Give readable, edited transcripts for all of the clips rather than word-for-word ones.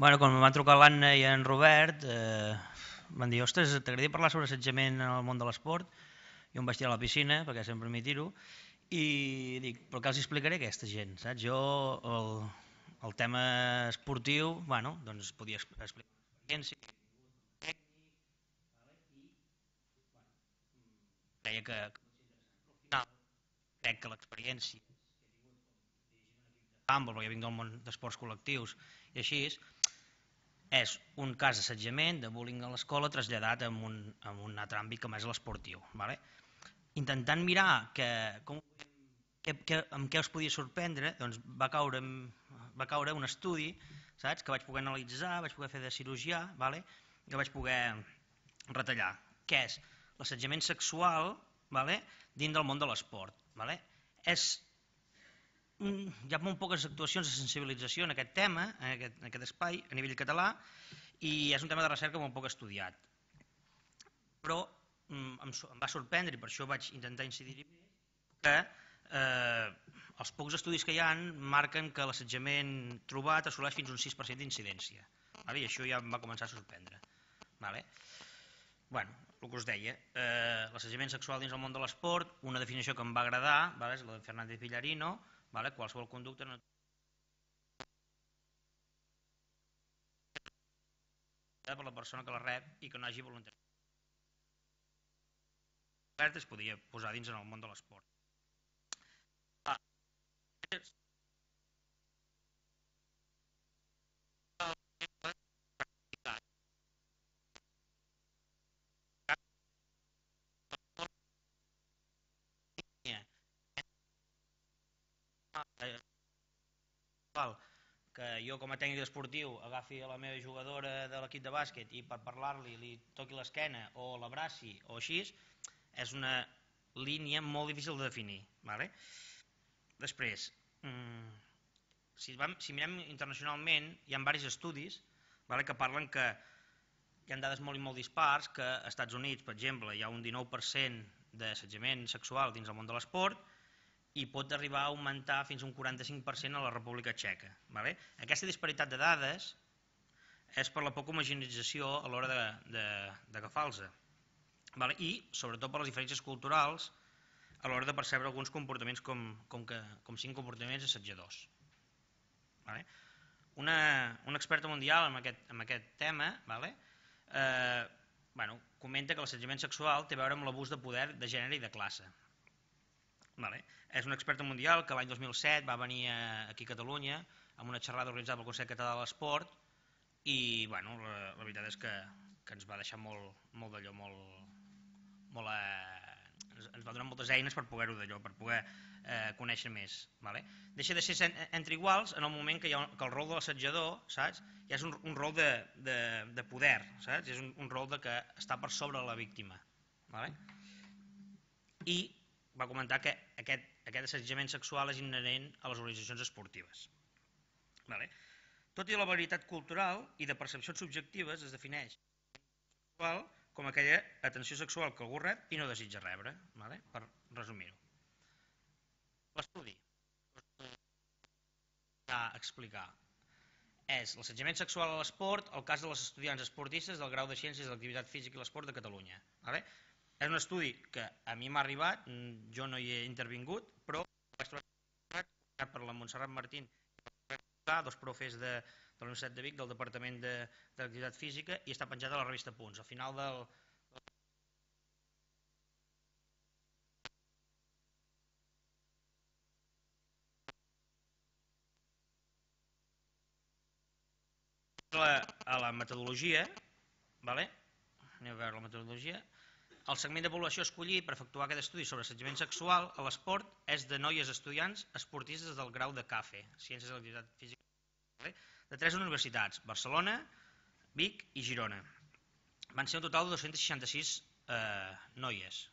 Quan em van trucar l'Anna i en Robert, van dir, ostres, t'agradaria parlar sobre assetjament en el món de l'esport? Jo em vaig tirar a la piscina, perquè sempre m'hi tiro, i dic, però què els explicaré a aquesta gent, saps? Jo, el tema esportiu, doncs podia explicar l'experiència, deia que al final crec que l'experiència handball, perquè vinc del món d'esports col·lectius i així, és un cas d'assetjament, de bullying a l'escola traslladat en un altre àmbit com és l'esportiu. ¿Vale? Intentant mirar amb què us podia sorprendre, doncs va caure un estudi, saps, que vaig poder analitzar, vaig poder fer de cirurgià, ¿vale? Que vaig poder retallar, què és l'assetjament sexual, ¿vale? Dins del món de l'esport. ¿Vale? Hi ha molt poques actuacions de sensibilització en aquest tema, en aquest espai, a nivell català, i és un tema de recerca molt poc estudiat. Però em va sorprendre, i per això vaig intentar incidir-hi, que els pocs estudis que hi ha marquen que l'assetjament trobat assoleix fins a un 6% d'incidència. I això ja em va començar a sorprendre. El que us deia, l'assetjament sexual dins el món de l'esport, una definició que em va agradar, és la de Fernández Villarino, qualsevol conducta no per la persona que la rep i que no hagi voluntat es podia posar dins en el món de l'esport. Que jo com a tècnic esportiu agafi a la meva jugadora de l'equip de bàsquet i per parlar-li li toqui l'esquena o l'abraci o així, és una línia molt difícil de definir. Després, si mirem internacionalment, hi ha diversos estudis que parlen que hi ha dades molt i molt dispars, que als Estats Units, per exemple, hi ha un 19% d'assetjament sexual dins el món de l'esport, i pot arribar a augmentar fins a un 45% a la República Txeca. Aquesta disparitat de dades és per la poca homogeneïtzació a l'hora d'agafar-los i sobretot per les diferències culturals a l'hora de percebre alguns comportaments com siguin comportaments assetjadors. Una experta mundial en aquest tema comenta que l'assetjament sexual té a veure amb l'abús de poder de gènere i de classe. És una experta mundial que l'any 2007 va venir aquí a Catalunya amb una xerrada organitzada pel Consell Català de l'Esport i la veritat és que ens va deixar molt d'allò, ens va donar moltes eines per poder-ho d'allò, per poder conèixer més. Deixa de ser entre iguals en el moment que el rol de l'assetjador ja és un rol de poder, és un rol que està per sobre la víctima. I va comentar que aquest assetjament sexual és inherent a les organitzacions esportives. Tot i la varietat cultural i de percepcions subjectives es defineix com aquella atenció sexual que algú rep i no desitja rebre, per resumir-ho. L'estudi a explicar és l'assetjament sexual a l'esport, el cas de les estudiants esportistes del grau de Ciències de l'Activitat Física i l'Esport de Catalunya. És un estudi que a mi m'ha arribat, jo no hi he intervingut, però vaig trobar per la Montserrat Martín, dos profes de la Universitat de Vic, del Departament d'Activitat Física, i està penjat a la revista Punts. Al final del... a la metodologia, anem a veure la metodologia. El segment d'avaluació escollit per efectuar aquest estudi sobre assetjament sexual a l'esport és de noies estudiants esportistes del grau de CAFE, Ciències de l'Activitat Física, de 3 universitats, Barcelona, Vic i Girona. Van ser un total de 266 noies.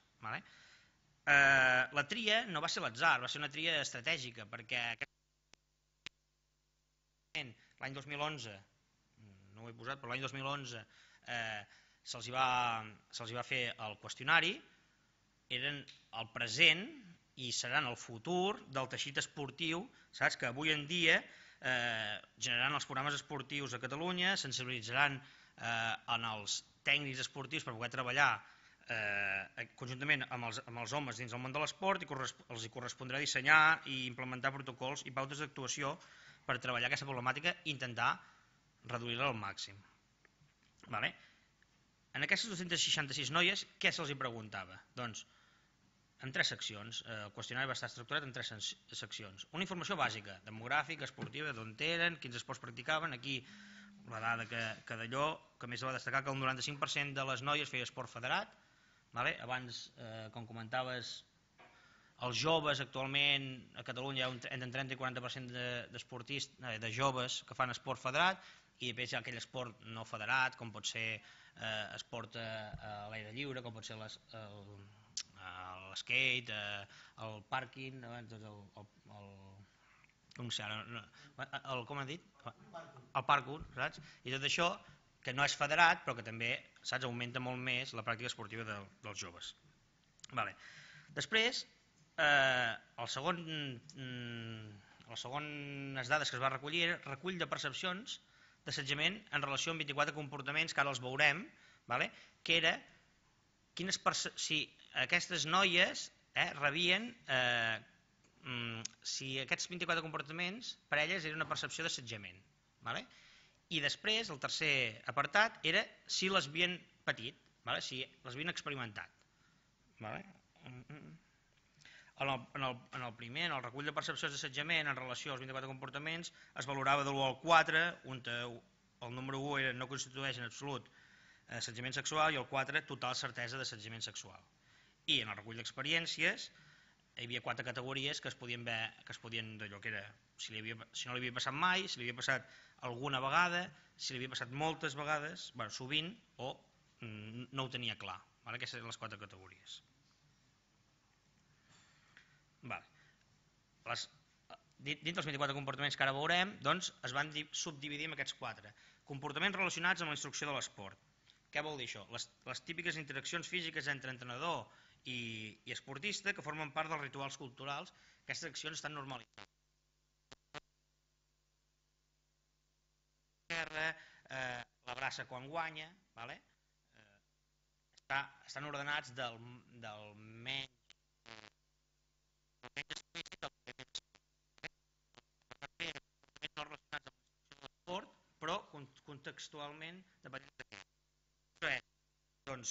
La tria no va ser l'atzar, va ser una tria estratègica, perquè l'any 2011, no ho he posat, però l'any 2011 se'ls va fer el qüestionari, eren el present i seran el futur del teixit esportiu, que avui en dia generaran els programes esportius a Catalunya, sensibilitzaran en els tècnics esportius per poder treballar conjuntament amb els homes dins del món de l'esport, i els correspondrà dissenyar i implementar protocols i pautes d'actuació per treballar aquesta problemàtica i intentar reduir-la al màxim. Vale? En aquestes 266 noies, què se'ls preguntava? Doncs, en 3 seccions. El qüestionari va estar estructurat en 3 seccions. Una informació bàsica, demogràfica, esportiva, d'on eren, quins esports practicaven. Aquí la dada que d'allò, que més va destacar que el 95% de les noies feia esport federat. Vale? Abans, com comentaves, els joves actualment a Catalunya hi ha entre 30 i 40% de joves que fan esport federat, i després hi ha aquell esport no federat, com pot ser esport a l'aire lliure, com pot ser l'skate, el parking, com ha dit? El parkour, saps? I tot això, que no és federat, però que també, saps, augmenta molt més la pràctica esportiva dels joves. Vale. Després, les segones dades que es va recollir era recull de percepcions d'assetjament en relació amb 24 comportaments, que ara els veurem, vale? Que era si aquestes noies rebien, si aquests 24 comportaments per elles era una percepció d'assetjament. Vale? I després, el tercer apartat, era si les havien patit, vale? Si les havien experimentat. Vale? En el primer, en el recull de percepcions d'assetjament en relació als 24 comportaments, es valorava de l'1 al 4, on el número 1 era no constitueix en absolut assetjament sexual, i el 4 total certesa d'assetjament sexual. I en el recull d'experiències hi havia 4 categories que es podien d'allò que era si no li havia passat mai, si li havia passat alguna vegada, si li havia passat moltes vegades, sovint, o no ho tenia clar. Aquestes eren les 4 categories. Dins dels 24 comportaments que ara veurem, doncs, es van subdividir en aquests 4. Comportaments relacionats amb la instrucció de l'esport. Què vol dir això? Les típiques interaccions físiques entre entrenador i esportista que formen part dels rituals culturals. Aquestes accions estan normalitzades. L'abraça quan guanya, estan ordenats del menys explícit al més no relacionats amb l'esport, però contextualment depenent de què. Això és, doncs,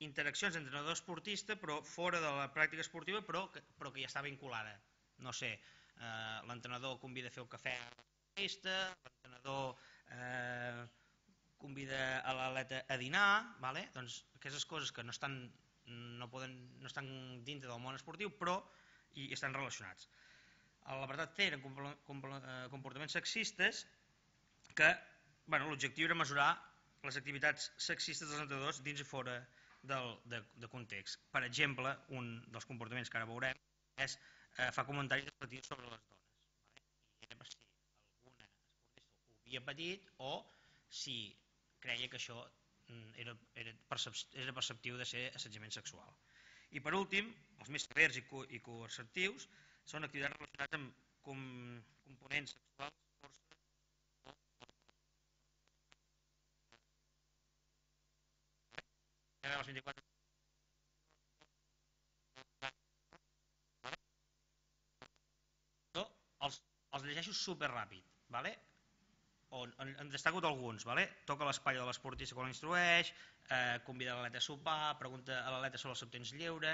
interaccions entre entrenador esportista, però fora de la pràctica esportiva, però que ja està vinculada. No sé, l'entrenador convida a fer un cafè a l'esportista, l'entrenador convida a l'atleta a dinar, doncs aquestes coses que no estan dintre del món esportiu, però hi estan relacionats. L'apartat C eren comportaments sexistes, que l'objectiu era mesurar les activitats sexistes dels entrenadors dins i fora de context. Per exemple, un dels comportaments que ara veurem és fa comentaris despectius sobre les dones. I era per si alguna esportista ho havia patit o si creia que això era perceptiu de ser assetjament sexual. I per últim, els més severs i coercitius són activitats relacionades amb components sexuals, força o els 24 els llegeixo superràpid, en destaco alguns. Toca l'espatlla de l'esportista quan l'instrueix, convida l'atleta a sopar, pregunta a l'atleta sobre el seu temps lliure,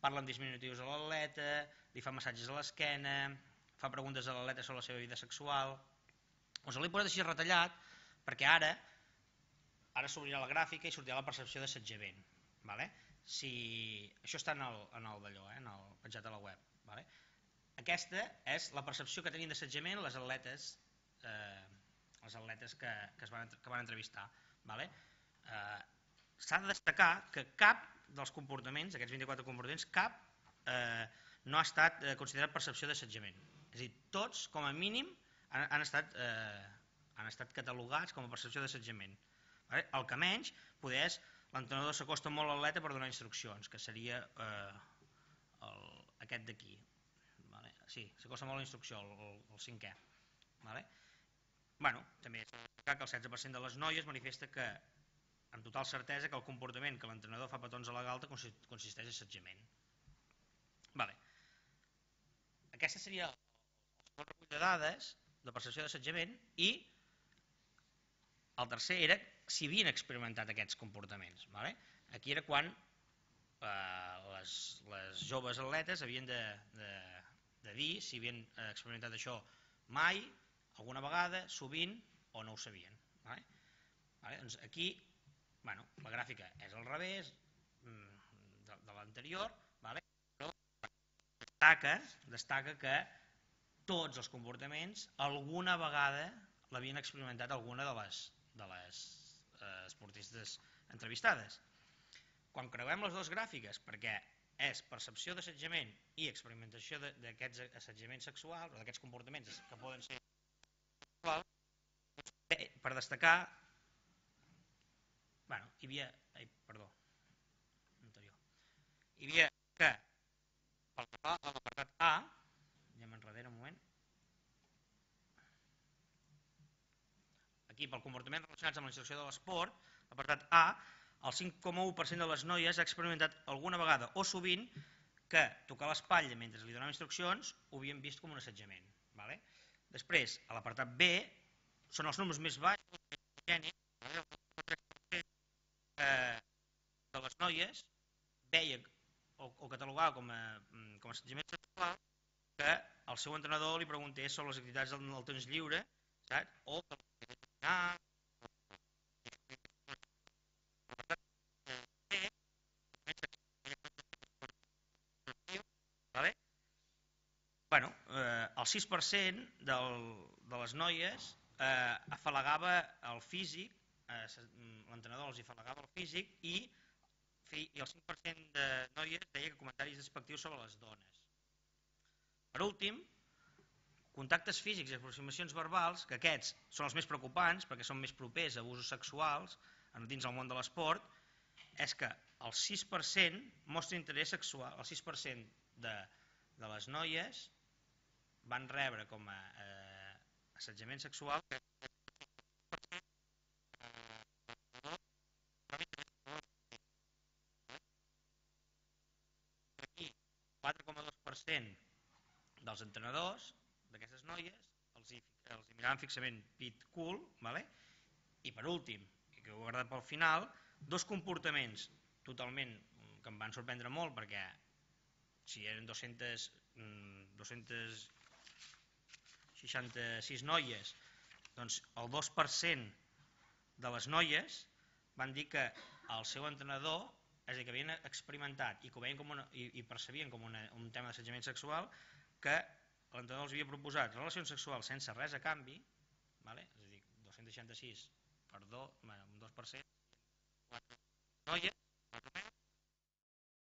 parla amb diminutius a l'atleta, li fa massatges a l'esquena, fa preguntes a l'atleta sobre la seva vida sexual. Us l'he posat així retallat perquè ara s'obrirà la gràfica i sortirà la percepció d'assetjament. Això està en el d'allò, penjat a la web. Aquesta és la percepció que tenien d'assetjament les atletes que van entrevistar. S'ha de destacar que cap dels comportaments, aquests 24 comportaments, cap no ha estat considerat percepció d'assetjament. És a dir, tots, com a mínim, han estat catalogats com a percepció d'assetjament. El que menys, poder és l'entrenador s'acosta molt a l'atleta per donar instruccions, que seria aquest d'aquí. Sí, s'acosta molt a la instrucció, el cinquè. Vale? Bueno, també s'ha de destacar que el 16% de les noies manifesta que, amb total certesa, que el comportament que l'entrenador fa petons a la galta consisteix en assetjament. Vale. Aquesta seria el segon recull de dades de percepció d'assetjament, i el tercer era si havien experimentat aquests comportaments. Vale? Aquí era quan les joves atletes havien de dir si havien experimentat això mai, alguna vegada, sovint, o no ho sabien. Vale? Vale? Doncs aquí, bueno, la gràfica és al revés de l'anterior, vale? Però destaca que tots els comportaments alguna vegada l'havien experimentat alguna de les esportistes entrevistades. Quan creuem les dues gràfiques, perquè és percepció d'assetjament i experimentació d'aquests assetjaments sexuals o d'aquests comportaments que poden ser sexuals, per destacar, bueno, hi havia que pel que fa a l'apartat A, anem enrere un moment, aquí pel comportament relacionats amb la instrucció de l'esport, l'apartat A, el 5,1% de les noies ha experimentat alguna vegada o sovint que tocar l'espatlla mentre li donaven instruccions ho havien vist com un assetjament. Vale? Després, a l'apartat B, són els números més baixos de les noies veia o catalogava com a assetjament sexual que el seu entrenador li preguntés sobre les activitats del temps lliure, saps? O que vale? Bueno, el 6% de les noies afalagava el físic, l'entrenador els afalagava el físic, i el 5% de noies deia que comentaris despectius sobre les dones. Per últim, contactes físics i aproximacions verbals, que aquests són els més preocupants perquè són més propers a abusos sexuals dins el món de l'esport, és que el 6% mostra interès sexual, el 6% de les noies van rebre com a assetjament sexual que aquí 4,2% dels entrenadors d'aquestes noies els miraven fixament pit cul, vale? I per últim, i que ho he guardat pel final, dos comportaments totalment que em van sorprendre molt, perquè si eren 266 noies, doncs el 2% de les noies van dir que el seu entrenador, és a dir, que havien experimentat i que ho veien i percebien com un tema d'assetjament sexual, que l'entrenador els havia proposat relacions sexuals sense res a canvi, vale? És a dir, 266 per 2, un 2%, 4 noies,